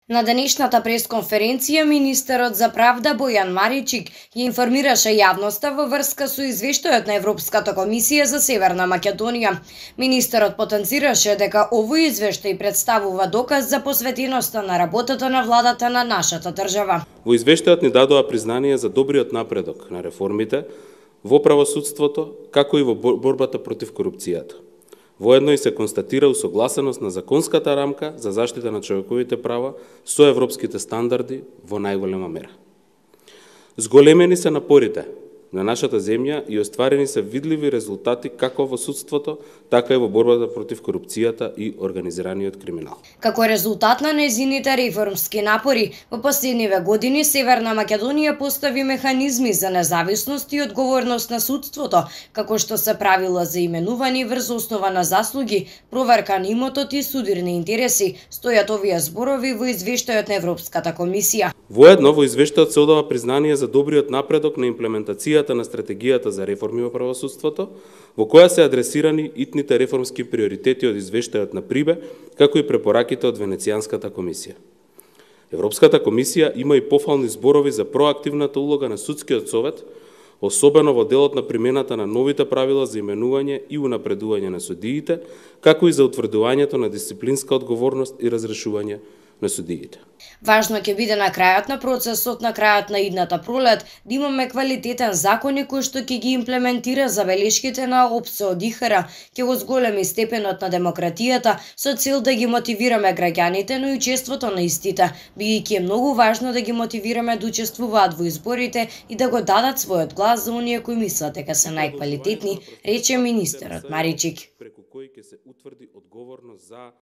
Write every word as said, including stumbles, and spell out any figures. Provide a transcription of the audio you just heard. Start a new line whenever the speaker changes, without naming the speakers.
На денешната пресконференција министерот за правда Бојан Маричик ја информираше јавноста во врска со извештајот на Европската комисија за Северна Македонија. Министерот потенцираше дека овој извештај представува доказ за посветеноста на работата на владата на нашата држава.
Во извештајот ни дадоа признание за добриот напредок на реформите во правосудството, како и во борбата против корупцијата. Воедно и се констатира усогласеност на законската рамка за заштита на човековите права со европските стандарди во најголема мера. Зголемени се напорите на нашата земја и остварени се видливи резултати како во судството, така и во борбата против корупцијата и организираниот криминал.
Како резултат на незините реформски напори, во последниве години Северна Македонија постави механизми за независност и одговорност на судството, како што се правила за именувани врз основа на заслуги, проверка на имотот и судирни интереси, стојат овие зборови во извештајот на Европската комисија.
Воедно во извештајот се одава признание за добриот напредок на имплементацијата на стратегијата за реформи во правосудството, во која се адресирани итните реформски приоритети од извештајот на Прибе, како и препораките од Венецијанската комисија. Европската комисија има и пофални зборови за проактивната улога на судскиот совет, особено во делот на примената на новите правила за именување и унапредување на судиите, како и за утврдувањето на дисциплинска одговорност и разрешување на судиите.
Важно ќе биде на крајот на процесот, на крајот на идната пролет, да имаме квалитетен закони кој што ќе ги имплементира забелешките на ОПСЕ од ИХР, ќе го зголеми степенот на демократијата со цел да ги мотивираме граѓаните, но и учеството на истите, бидејќи е многу важно да ги мотивираме да учествуваат во изборите и да го дадат својот глас за оние кои мислат дека се најквалитетни, рече министерот Маричик.